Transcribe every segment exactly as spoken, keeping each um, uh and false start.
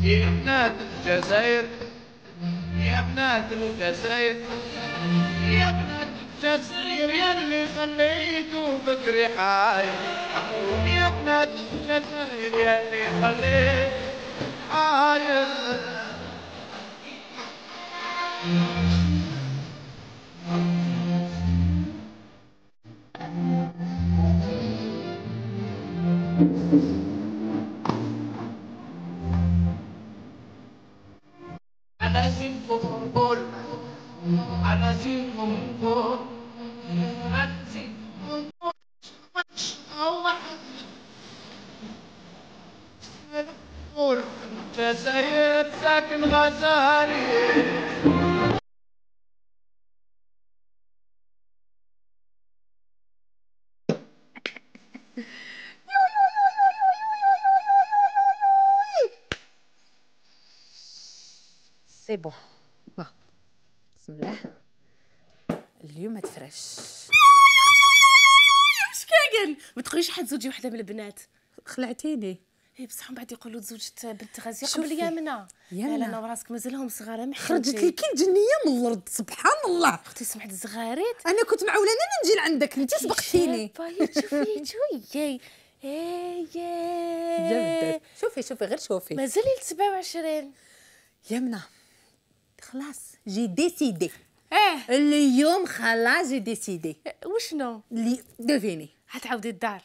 يا بنات الجزائر يا بنات الجزائر يا بنات الجزائر يلي خليتو بكري حاير يا بنات الجزائر يلي خليتو حاير أنا فيكم بول أنا فيكم بول أنا فيكم بول جزائر ساكن غزالي سي بون بسم الله اليوم تفرش واش كاين ما تقوليش حد زوجي وحده من البنات خلعتيني. اي بصح من بعد يقولوا زوجة بنت غازيه قبل يامنه يامنة. لا لا وراسك مازالهم صغار ما خرجت لك الجنيه من الارض سبحان الله. اختي سمعت الزغاريت انا كنت معولانه انا نجي لعندك انت سبقتيني. شوفي شويه اي يا شوفي شوفي غير شوفي مازال سبعة وعشرين يمنى خلاص جي ديسيدي. اه اليوم خلاص جي ديسيدي. وشنو اللي ديفيني حتعاودي الدار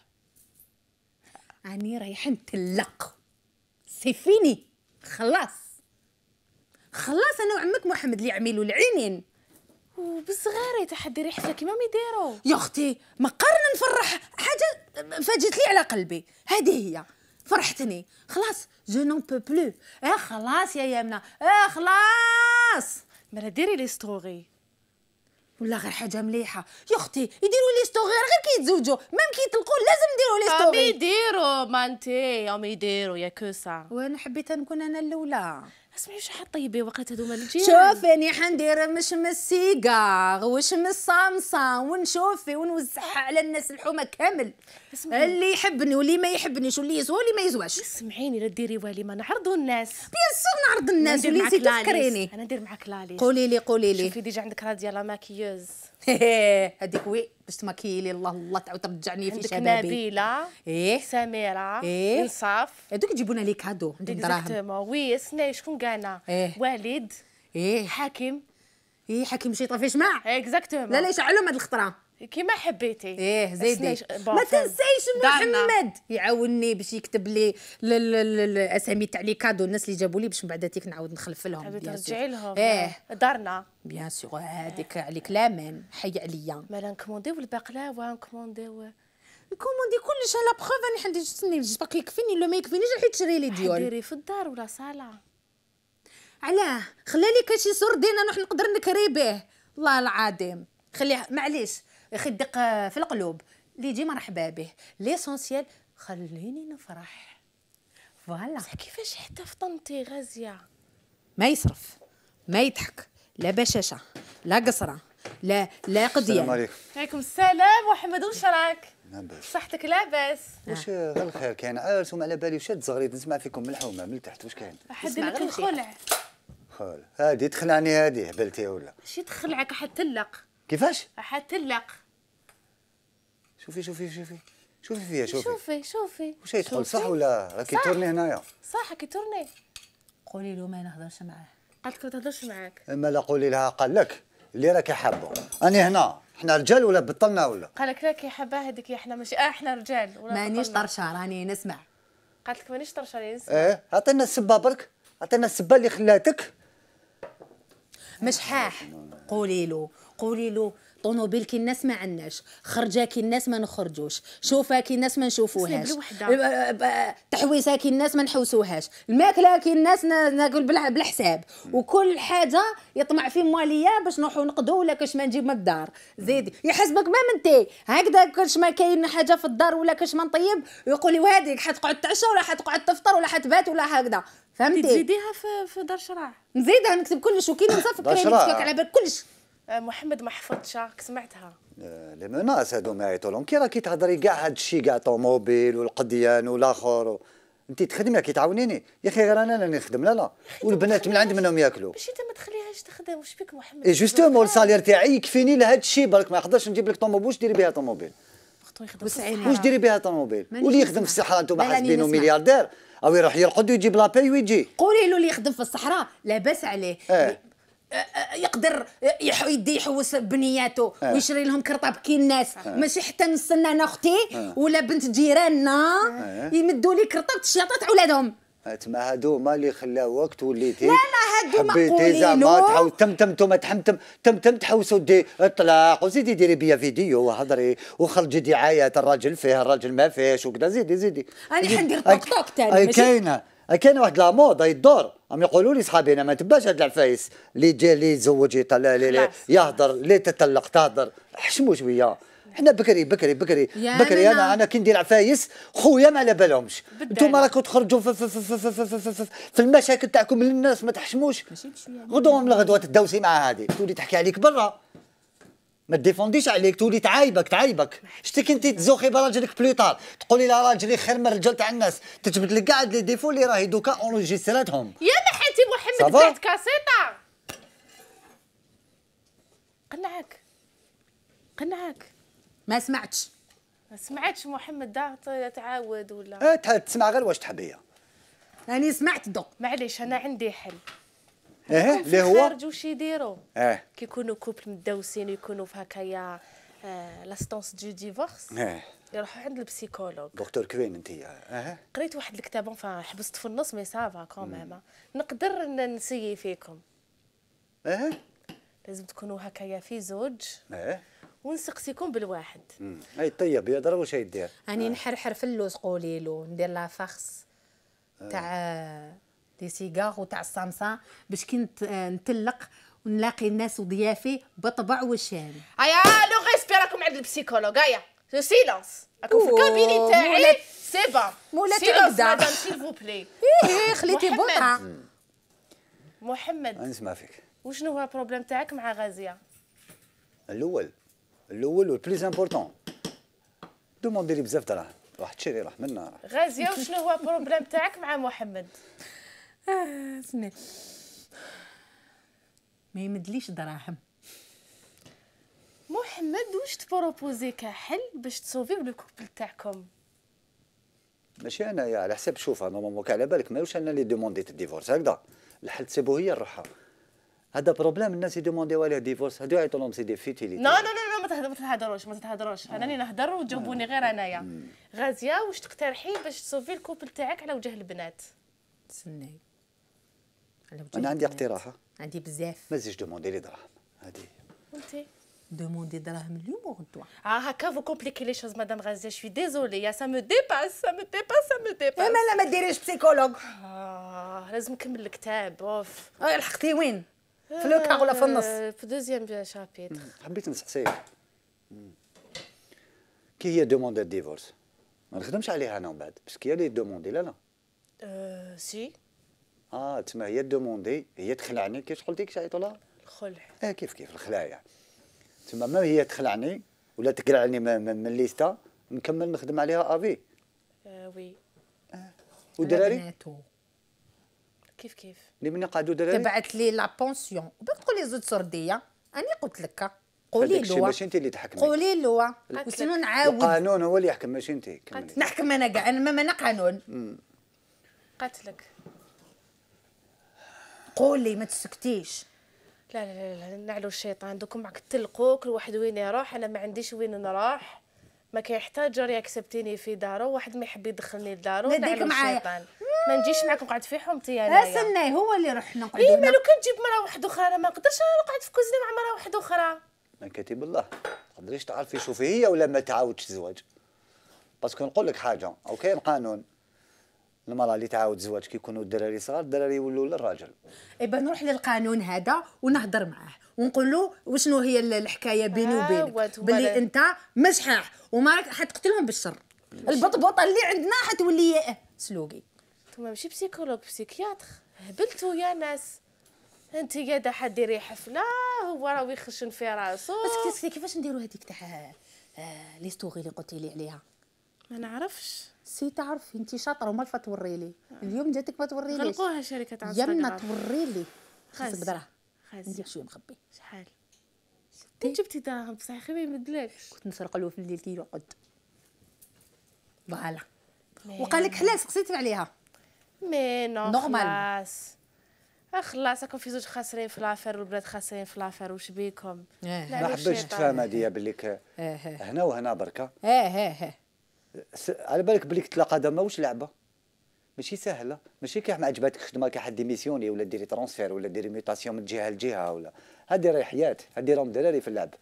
راني رايحه نتلق سي فيني خلاص خلاص انا وعمك محمد اللي عملوا العينين وبالصغاري تحديري حفله كيما ما يديروا يا اختي ما قررنا نفرح حاجه فاجت لي على قلبي هذه هي فرحتني خلاص جو نون بو بلو. اه خلاص يا يمنى اه خلاص مالا ديري لي ستوري ولا غير حاجه مليحه يا اختي يديروا لي ستوري غير كيتزوجوا ميم كيطلقوا لازم نديروا لي ستوري. يديروا ما انتي هم يديروا يا كوسا وانا حبيت نكون انا الاولى. اسمعي واش حطيبي وقت هذوما الجيران شوفي اني حندير مشمس سيجار وشمس صامصه ونشوفي ونوزعها على الناس الحومه كامل. اسمعي. اللي يحبني واللي ما يحبنيش واللي يزوى واللي ما يزواش. اسمعيني لا ديري والي ما نعرضوا الناس. بيان سور نعرض الناس واللي نسيتي تفكريني. انا ندير معاك لاليس. قولي لي قولي لي شوفي ديجا عندك راديا لا ماكيوز هذيك وي باش تماكيي لي الله الله تعاود ترجعني في شبابي. عندك نبيله ايه سميره إيه؟ انصاف هذوك يجيبونا لي كادو عندهم دراهم. اكزاكتومون وي سناي شكون كانا إيه؟ والد ايه حاكم ايه حكيم شي طفي شمع. اكزاكتومون لا لا يشعلهم هاد الخطره كيما حبيتي. ايه زيدي ش... ما تنسيش محمد يعاوني باش يكتب لي الاسامي تاع لي كادو الناس اللي جابوا لي باش من بعد تيك نعاود نخلف لهم. تبي ترجعي لهم ايه دارنا بيان سور هذيك عليك لامان حي عليا. مالا نكومونديو البقلاوه نكومونديو نكوموندي كلش على بخوف راني حندير تسني باقي يكفيني لو ما يكفينيش راح تشري لي ديول. ديري في الدار ولا صاله علاه خلالي كاشي سردين نروح نقدر نكري به والله العظيم خليها معليش اخي الدق في القلوب اللي يجي مرحبا به ليسونسيال خليني نفرح فوالا. كيفاش حتى فطنتي غازيه ما يصرف ما يضحك لا بشاشه لا قصره لا لا قضيه. السلام عليكم. عليكم السلام محمد واش راك لاباس صحتك لاباس واش غير الخير كاين عرس وما على بالي واش تزغريد نسمع فيكم من الحومه من التحت واش كاين حد لك الخلع خال هادي تخلعني هادي هبلتي ولا شي تخلعك حتلق كيفاش حتلق شوفي شوفي شوفي شوفي فيها شوفي شوفي شوفي واش يدخل صح ولا راه كيتورني هنايا صح كيتورني. قولي له ما نهضرش معاه. قالت لك ما تهضرش معاك اما لا قولي لها قال لك اللي راكي حابه اني هنا حنا رجال ولا بطلنا ولا قال لك راكي حباه هذيك احنا ماشي اه احنا رجال ولا مانيش طرشه راني نسمع. قالت لك مانيش طرشه راني نسمع. ايه عطينا السبه برك عطينا السبه اللي خلاتك مش حاح. قولي له قولي له طونوبيل كي الناس ما عندناش خرجه كي الناس ما نخرجوش شوفه كي الناس ما نشوفوهاش تحويسه كي الناس ما نحوسوهاش الماكله كي الناس ناكل بالحساب وكل حاجه يطمع في مواليه باش نروحوا نقضوا ولا كاش ما نجيب من الدار. زيدي يحسبك ما منتي هكذا كاش ما كاين حاجه في الدار ولا كاش ما نطيب يقول لي وهذيك حتقعد تعشى ولا حتقعد تفطر ولا حتبات ولا هكذا فهمتي. تزيديها في في دار شراع نزيدها نكتب كلش وكي نصفك كاين على بالك كلش. محمد ما حفظتش سمعتها. لي مناس هادو ما يعيطوا لهم كي راكي تهضري كاع هاد الشيء كاع طوموبيل والقديان والاخر انت تخدمي كي تعاونيني يا اخي، غير انا راني نخدم. لا لا والبنات من عند منهم ياكلوا. باش انت ما تخليهاش تخدم، واش بك محمد؟ اي جوستومون السالير تاعي يكفيني لهذا الشيء برك، ما نقدرش نجيب لك طوموبيل. واش ديري بها طوموبيل؟ واش ديري بها طوموبيل؟ واللي يخدم في الصحراء انتم حاسبينه ملياردير او يروح يرقد ويجيب لاباي ويجي. قولي له اللي يخدم في الصحراء لاباس عليه. اه. يقدر يدي يحوس بنياته اه. ويشري لهم كرطاب كي الناس اه. ماشي حتى نستنى انا اختي اه. ولا بنت جيراننا اه. يمدوا لي كرطاب الشياطات علادهم. تما هادو ما اللي خلاوك توليتي. لا لا هادو ما قولي زعما تحاول تمتمتوا ما تحمتم تمتم تحوسوا دي اطلاق وزيدي ديري بيا فيديو وهضري وخرجي دعايات الراجل فيه الراجل ما فيهش وكذا. زيدي زيدي انا حندير طوك طوك ثاني. ماشي كاينه كاينه واحد لا مود يدور. هم يقولوا لي صحابي انا ما تباش هاد العفايس اللي جا اللي يتزوج يطلع لي يهضر اللي تطلق تهضر. حشموا شويه. حنا بكري بكري بكري بكري انا انا كي ندير عفايس خويا ما على بالهمش. انتم راكم تخرجوا في, في, في, في, في, في, في, في المشاكل تاعكم للناس ما تحشموش. غدوه من الغدوه تدوسي مع هذه تولي تحكي عليك برا ما تديفونديش عليك تولي تعايبك تعايبك. شتي كنتي تزوخي براجلك بليطار تقولي لا راجلي خير من الرجال تاع الناس تجبد لك كاع لي ديفو اللي راهي دوكا اونجيستراتهم. يا محيتي محمد بعت كاسيطه. قنعك قنعك ما سمعتش. ما سمعتش محمد دا تعاود ولا؟ اه تسمع غير واش تحبيه. راني سمعت دوك. معليش انا عندي حل. اه اللي هو خارج واش يديروا؟ اه كي يكونوا كوبل مدوسين ويكونوا في هكايا آه لاستونس دو ديفورس اه يروحوا عند البسيكولوج. دكتور كوين انت. اه قريت واحد الكتاب انفا حبست في النص مي سافا كوميم نقدر نسيي فيكم. اه لازم تكونوا هكايا في زوج اه ونسقسيكم بالواحد. اي طيب يضرب واش يدير. راني نحرحر في اللوز قولي له ندير لا فخس تاع دي سيجار وتاع الصمصه باش كي نتلق ونلاقي الناس وضيافي بطبع وشام. هيا لو ريسبي راكم عند البسيكولوج. هيا سيلونس راكم في الكابيني تاعي. سي با مولاتي سيلونس مدام سيل فو بلي. ايه خليتي بوطه. محمد نسمع فيك. وشنو هو البروبليم تاعك مع غازيه؟ الاول الاول والبليز امبورطون دوموندي لي بزاف دراهم راح تشري راح منا. غازيه وشنو هو البروبليم تاعك مع محمد؟ اه سمع ما يمدليش دراهم. محمد واش تبروبوزي كحل باش تصوفيو لو كوبل تاعكم؟ ماشي انايا على حساب شوف نورمالمون على بالك ماهوش انا اللي دومونديت الديفورس هكذا. الحل تسيبو هي روحها. هذا بروبليم الناس يدومونديو عليه ديفورس هادو يعيطوا لهم سي دي فيتيليتي. لا لا لا ما تهضروش ما تهضروش. انا نهضر وتجاوبوني غير انايا. غازيه واش تقترحي باش تصوفي الكوبل تاعك على وجه البنات؟ تسناي انا عندي اقتراح. عندي بزاف. ما تزيدش دوموندي لي دراهم هادي. وانتي دوموندي دراهم اليوم وغدوه. اه هكا فو كومبليكي لي شوز مدام غازيه. شوي ديزولي يا سا مو ديباس سا مو ديباس سا مو ديباس. لا لا ما ديريش بسيكولوج. اه لازم نكمل الكتاب. اوف اه لحقتي وين؟ في لوكا ولا في النص؟ في دوزيام شابيتر. حبيت نسقسيك كي هي دوموندي ديفورس ما نخدمش عليها انا من بعد باسكو هي اللي دوموندي. لا لا اه سي اه تسمى هي دوموندي هي تخلعني كيفاش قلتي كيش عيطوا لها؟ الخلع. اه كيف كيف الخلايا. تسمى ما هي تخلعني ولا تقلعني من الليستا نكمل نخدم عليها افي. اه وي. اه ودراري كيف كيف اللي من قعدوا دراري تبعت لي لا بونسيون وباك تقولي زوج سرديه. انا قلت لك قولي له ماشي انت اللي تحكمي. قولي له وشنو نعاود. القانون هو اللي يحكم ماشي انت. نحكم انا كاع انا ما انا قانون. قتلك. قولي ما تسكتيش. لا لا لا لا نعلو الشيطان دوكم معك تلقوك الواحد وين يروح. انا ما عنديش وين نروح. ما كيحتاج راه ياكسبتيني في دارو. واحد ما يحب يدخلني لدارو نعلو الشيطان. ما نجيش معاك نقعد في حومتي انا. استناي هو اللي رحنا نقعدوا. اي مالو كان تجيب مرا واحده اخرى. انا ما نقدرش نقعد في كوزينه مع مرا واحده اخرى. ما كاتب الله ما تقدريش تعرفي شوفي هي ولا ما تعاودش الزواج. باسكو نقول لك حاجه او كاين قانون المراه اللي تعاود الزواج كي يكونوا الدراري صغار الدراري يولوا للراجل. ايبا نروح للقانون هذا ونهضر معاه ونقول له وشنو هي الحكايه بيني وبينك باللي انت مشحاح وما راك حتقتلهم بالشر. البطبوطه اللي عندنا حتولي سلوقي. نتوما ماشي بسيكولوج بسيكياتر. هبلتوا يا ناس. انت قاعده حديري حفله هو راه يخشن في راسو. بس كيفاش نديروا هذيك تاع لي ستوري اللي قلتي لي عليها؟ ما نعرفش. سي تعرفي انت شاطره وما توري لي اليوم جاتك ما توري لي غلقوها شركه انستغرام يمنا توري لي خاصك درهم خاص ندير شويه مخبي شحال انت جبتي دراهم بصح خي ما يمدلكش كنت نسرق له في الليل كيرقد فوالا وقال لك حلال سقسيت عليها مي نو نورمال. خلاص خلاص راكم في زوج خاسرين في لافير والبنات خاسرين في لافير واش بيكم اه ما حبيتش تفهم هذه بليك اه هنا وهنا بركه اه اه س- على بالك بليك تلاقى هذا ماهوش لعبه ماشي سهله ماشي كي ما عجباتك خدمه كي حد ديميسيوني ولا ديري ترونسفير ولا ديري ميوتاسيون من جهه لجهه ولا هذه راهي حياه هذه راهم دراري في اللعب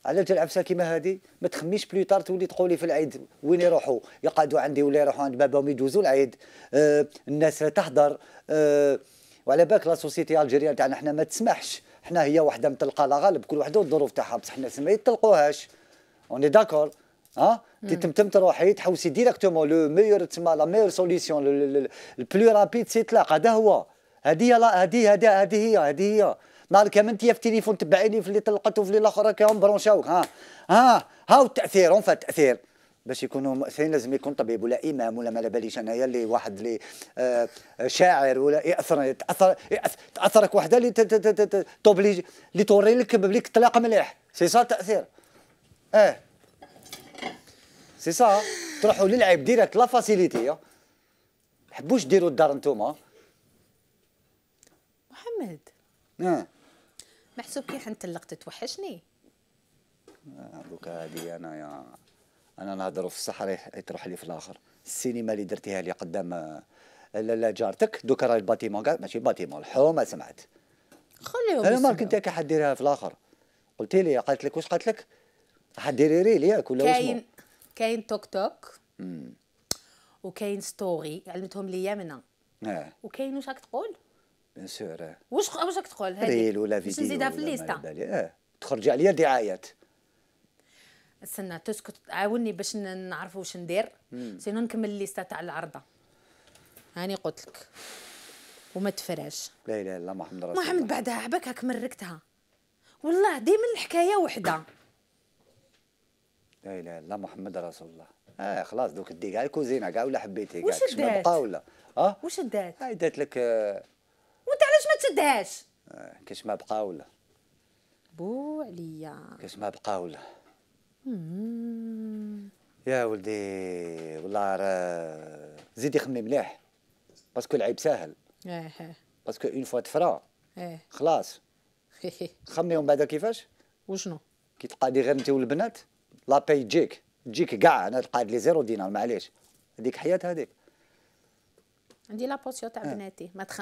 على العفسه كيما هذه ما تخميش بلو طار تولي تقولي في العيد وين يروحوا يقعدوا عندي ولا يروحوا عند باباهم يدوزوا العيد آه الناس تحضر آه وعلى بالك لا سوسيتي الجيريان تاعنا حنا ما تسمحش حنا هي وحده مطلقه لا غالب كل وحده والظروف تاعها بصح الناس ما يطلقوهاش اوني داكور ها كي تمتم تروحي تحوسي ديريكتومون لو ميور تسمى لا ميور سوليسيون البلو رابيد سي طلاق هذا هو هذه لا هذه هذه هذه هي هذه هي نهار كامل انت في التليفون تبعيني في اللي طلقت وفي اللي الاخر راكم برونشاوك ها ها هاو التاثير اون فات التاثير باش يكونوا مؤثرين لازم يكون طبيب ولا امام ولا ما على باليش انايا اللي واحد اللي آه شاعر ولا ياثر تاثر تاثرك وحده اللي توبليج اللي توري لك بليك طلاق مليح سي سا التاثير اه سي سا تروحوا للعيب ديريكت لا فاسيليتي حبوش ديروا الدار نتوما محمد اه محسوب كي حنطلق توحشني دوكا هادي انايا انا نهضروا في الصحراء تروح لي في الاخر السينما اللي درتيها لي قدام لا جارتك دوكا راهي الباتيمون كاع ماشي باتيمون الحومه سمعت خليهم انا ما كنت كي حديرها في الاخر قلت لي قالت لك واش قالت لك حديري ريل ياك ولا واش كاين كاين توك توك وكاين ستوري علمتهم ليا منها اه وكاين واش راك تقول بيان سور واش واش راك تقول هذه ريل ولا باش فيديو نزيدها في ولا ما الليسته على بالي. اه تخرج عليا دعايات استنى تسكت عاوني باش ن- نعرفوا واش ندير سينو نكمل الليسته تاع العرضه هاني قلت لك وما تفراش لا اله الا الله محمد رسول الله محمد بعدها عباك هاك مركتها والله ديما الحكايه وحده لا اله الا الله محمد رسول الله اه خلاص دوك دي كاع الكوزينه كاع ولا حبيتي كاع واش كاش ما دات؟ بقى ولا اه واش دات هاي دات لك آه وانت علاش ما تشدهاش آه، كاش ما بقى ولا بو عليا كاش ما بقى ولا يا ولدي والله راه زيدي خمي مليح باسكو العيب ساهل اه باسكو اون فوا تفرا اه خلاص خمي ومن بعد كيفاش وشنو كي تقعدي غير انت والبنات لا باي تجيك تجيك كاع انا تقعد لي زيرو دينار معليش هذيك حياه هذيك عندي لا بوسيون تاع بناتي ما تخ...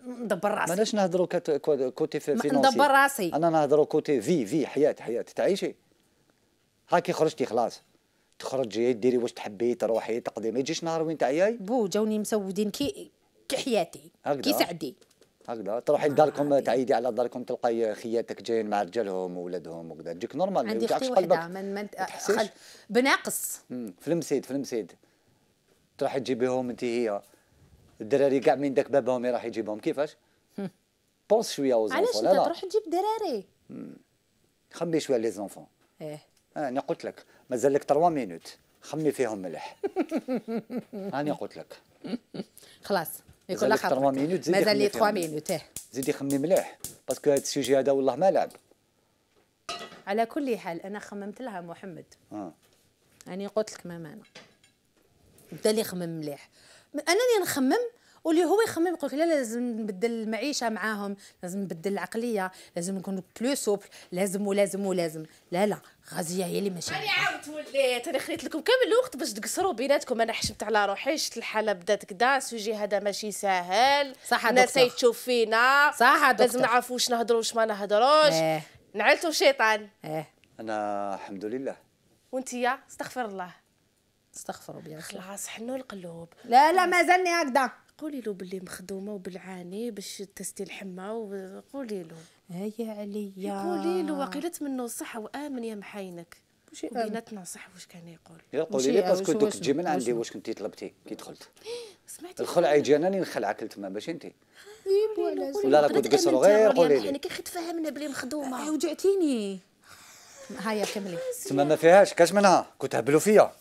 ندبر راسي ماناش نهضروا كت- كو- كوتي في فينانسي ندبر راسي انا نهضروا كوتي في في حياه حياه تعيشي هاكي خرجتي خلاص تخرجي ديري واش تحبي تروحي تقضي ما يجيش نهار وين تعياي بو جاوني مسودين كي كي حياتي هكذا. كي سعدي هكذا تروحي لداركم تعيدي على داركم تلقاي خياتك جايين مع رجالهم وولادهم وكذا تجيك نورمال ما عندي يوجعكش اختي قلبك وحده من من تحسيش؟ خل... بناقص مم، في المسيد في المسيد تروحي تجيبيهم انت هي الدراري كاع من داك بابهم راح يجيبهم كيفاش بونس شويه aux علاش enfants انت لا لا تروح تجيب دراري خمي شويه لي زونفون ايه انا قلت لك مازال لك ثلاث مينوت خمي فيهم مليح انا قلت لك خلاص يكون مازال لك ثلاث خاطرك مينوت زيدي مازال لي خمي ثلاث فيهم. مينوت اه زيدي خمي مليح باسكو هذا السوجي هذا والله ما لعب على كل حال انا خممت لها محمد اه اني قلت لك ماما انا بدا لي يخمم مليح انا اللي نخمم واللي هو يخمم يقول لك لا لازم نبدل المعيشه معاهم لازم نبدل العقليه لازم نكون بلو سوبل لازم ولازم ولازم لا لا غازيه هي اللي ماشي انا عاودت وليت انا خليت لكم كامل الوقت باش تقصروا بيناتكم انا حشمت على روحي شفت الحاله بدات كدا السوجي هذا ماشي ساهل صح الناس دكتور. تشوف فينا صح دكتور. لازم نعرفوا واش نهضروا واش ما نهضروش اه نعلتوا الشيطان اه انا الحمد لله وانتيا استغفر الله استغفروا بيا خلاص حنوا القلوب لا لا مازالني هكذا قولي له باللي مخدومه وبالعاني باش تستي الحمى وقولي له هيا عليا قولي له وقيلت منه الصح وامن يا محاينك وشي وبيناتنا صح واش كان يقول يا قولي وشي- لي باسكو وشو- دوك وشنو- تجي من عندي وشنو؟ واش كنتي طلبتي كي دخلت سمعتي الخلع يجي انا اللي نخلعك تما باش انت قولي ولا راكم تقصروا غير قولي لي كي خي تفهمنا بلي مخدومه وجعتيني هيا كملي تما ما فيهاش كاش منها كنت هبلوا فيا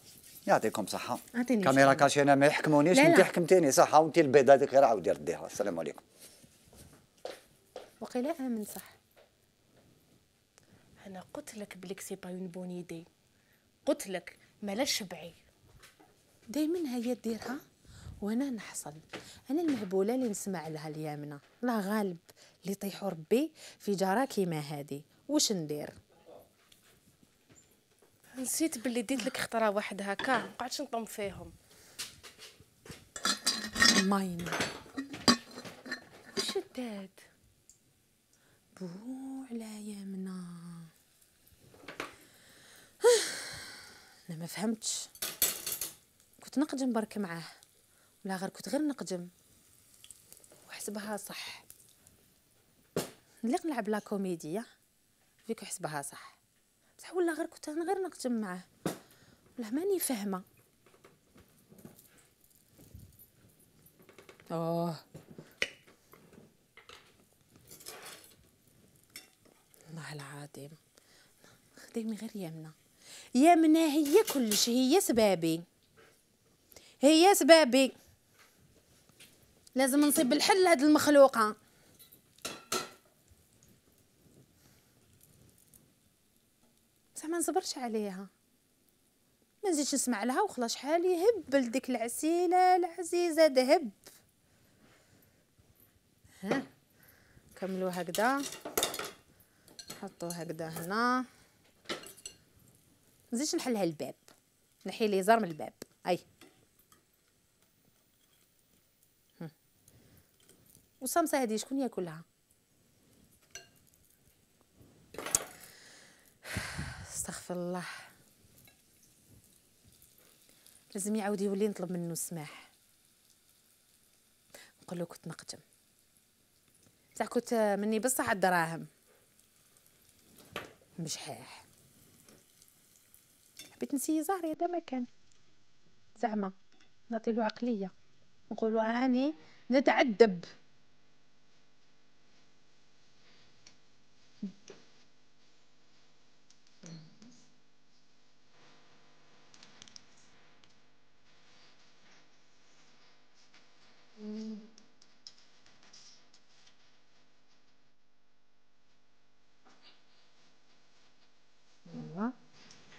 يعطيكم صحه. اعطيني كاميرا كاشي انا ما يحكمونيش، انت حكمتيني صحه، وانت البيضه هذيك غير عاودي رديها. السلام عليكم. وقيلا امن صح. انا قلت لك بليك سي با اون بون ايدي، قلت لك مالا شبعي دايما هي ديرها وانا نحصل. انا المهبوله اللي نسمع لها اليامنه، الله غالب اللي يطيحوا ربي في جاره كيما هادي، واش ندير؟ نسيت باللي ديت لك خطره واحد هكا، ما قعدتش نطم فيهم. ماين واش دات بو على يامنه؟ انا ما فهمتش، كنت نقدم برك معاه ولا غير كنت غير نقدم وحسبها صح. نليق نلعب لا كوميديا فيك حسبها صح، بصح ولا غير كنت انا غير نقدم معاه ولا ماني فاهمه. اوه الله العظيم، خديمي غير يمنه. يمنه هي كلش، هي سبابي، هي سبابي. لازم نصيب الحل لهاد المخلوقه. بصح ما نصبرش عليها، ما نزيدش نسمع لها وخلاص. شحال يهبل ديك العسيله العزيزه دهب. ها كملوا هكذا، نحطوه هكذا هنا. نزيدش نحلها الباب، نحي اليزار من الباب. اي وصامصه هذه شكون ياكلها؟ استغفر الله. لازم يعاود يولي نطلب منه السماح، نقول له كنت نقدم بصح كنت مني بصح الدراهم مشحاح. حبيت نسي زهري هذا ما كان زعما نعطيلو عقليه، نقولوا هاني نتعذب.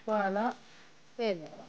فوالا فوالا